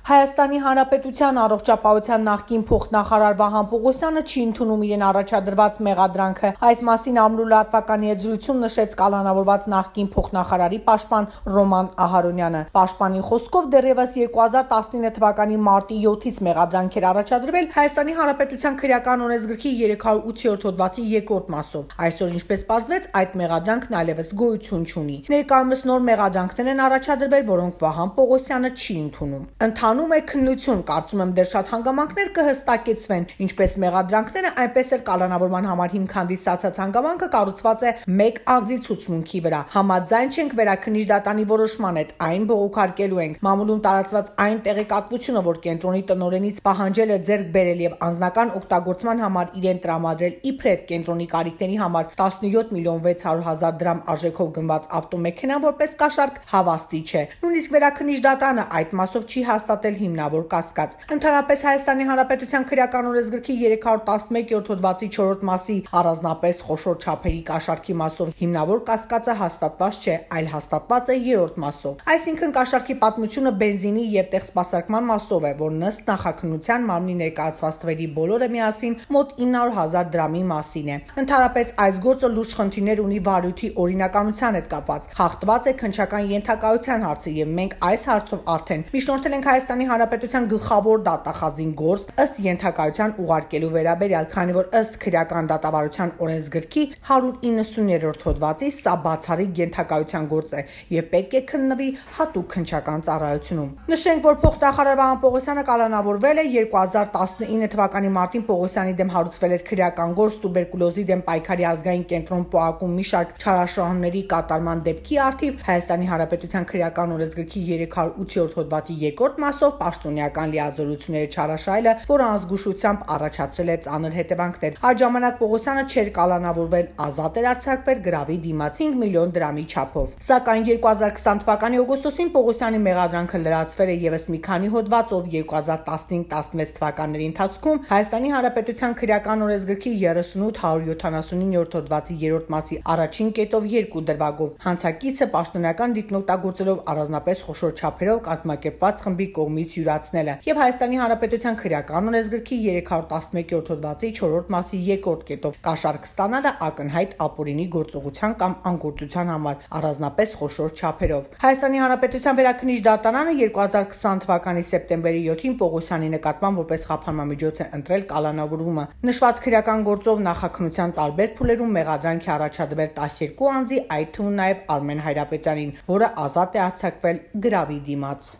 Հայաստանի Հանրապետության առողջապահության նախկին փոխնախարար Վահան Պողոսյանը չի ընդունում իրեն առաջադրված մեղադրանքը։ Այս մասին ամլու լրատվականի հետ զրույցում նշեց կալանավորված նախկին փոխնախարարի պաշտպան Ռոման Ահարոնյանը։ Պաշտպանի խոսքով դեռևս 2019 թվականի մարտի 7-ից մեղադրանք էր առաջադրվել Հայաստանի Հանրապետության քրեական օրենսգրքի 308-րդ հոդվածի 2-րդ մասով։ Այսօր, ինչպես պարզվեց, այդ մեղադրանքն այլևս գոյություն չունի։ Ներկայումս նոր մեղադրանքներ են առաջադրվել, որոնք Վահան Պողոսյանը չի ընդունում։ Ընթանում է քննություն, կարծում եմ դեռ շատ հանգամանքներ կհստակեցվեն, ինչպես մեղադրանքները, այնպես էլ կալանավորման համար հիմք հանդիսացած հանգամանքը կառուցված է մեկ անձի ցուցմունքի վրա։ Համաձայն չենք վերաքննիչ դատանի որոշման հետ, այն բողոքարկելու ենք։ Մամուլում տարածված այն տեղեկատվությունը, որ կենտրոնի տնօրենից պահանջել է ձեռք բերել եւ անձնական օգտագործման համար իրեն տրամադրել իբրև կենտրոնի կարիքների համար 17 միլիոն 600 հազար դրամ արժեքով գնված ավտոմեքենա որպես կաշառք հավաստի չէ։ Նույնիսկ վերաքննիչ դատանը այդ մասով չի հաստատել հիմնավոր կասկած։ Ընդհանրապես Հայաստանի Հանրապետության քրեական օրենսգրքի 311-րդ հոդվածի 4-րդ մասի առանձնապես խոշոր չափերի կաշառքի մասով հիմնավոր կասկածը հաստատված չէ, այլ հաստատված է 3-րդ մասով։ Այսինքն կաշառքի պատմությունը բենզինի եւ տեղսպասարկման մասով է, որ ըստ նախաքննության մարմնի ներկայացված թվերի բոլորը միասին մոտ 900 հազար դրամի մասին է։ Ընդհանրապես այս գործը լուրջ խնդիրներ ունի վարույթի օրինականության հետ կապված։ Խախտված է քննչական ենթակայության հարցը եւ մենք այս հարցով արդեն միջնորդել ենք Հայաստանի Հանրապետության գլխավոր դատախազին գործ ըստ ենթակայության ուղարկելու վերաբերյալ, քանի որ ըստ քրեական դատավարության օրենսգրքի 190-րդ հոդվածի սա բացառիկ ենթակայության գործ է եւ պետք է քննվի հատուկ քննչական ծառայությունում։ Նշենք, որ փոխնախարար Վահան Պողոսյանը կալանավորվել է 2019 թվականի մարտին Պողոսյանի դեմ հարուցվել էր քրեական գործ տուբերկուլոզի դեմ պայքարի ազգային կենտրոն ՊՕԱԿ-ում մի շարք չարաշահումների կատարման դեպքի առթիվ Հայաստանի Հանրապետության քրեական օրենսգրքի 308-րդ հոդվածի 2-րդ մասով պաշտոնեական լիազորությունների չարաշահելը, որը անզգուշությամբ առաջացրել է ծանր հետևանքներ։ Այդ ժամանակ Պողոսյանը չէր կալանավորվել, ազատ էր արձակվել գրավի դիմաց 5 միլիոն դրամի չափով։ Սակայն 2020 թվականի օգոստոսին Պողոսյանի մեղադրանքը լրացվել է եւս մի քանի հոդվածով 2015-16 թվականների ընթացքում Հայաստանի Հանրապետության քրեական օրենսգրքի 38-179-րդ հոդվածի 3-րդ մասի առաջին կետով 2 դրվագով հանցակիցը պաշտոնեական դիտն օգտագործելով առանձնապես խոշոր չափերով կազմակերպված խմբի կողմից յուրացնել է եւ Հայաստանի Հանրապետության քրեական օրենսգրքի 311-րդ հոդվածի 4-րդ մասի 2-րդ կետով կաշառք ստանալը ակնհայտ ապօրինի գործողության կամ անգործության համար առանձնապես խոշոր չափերով։ Հայաստանի Հանրապետության վերաքննիչ դատարանը 2020 թվականի սեպտեմբերի 7-ին Պողոսյանի նկատմամբ որպես խափանամիջոց է ընտրել կալանավորումը։ Նշված քրեական գործով նախաքննության տարբեր փուլերում մեղադրանք է առաջադրվել 12 անձի, այդ թվում նաև Արմեն Հայրապետյանին, որը ազատ է արձակվել գրավի դիմաց։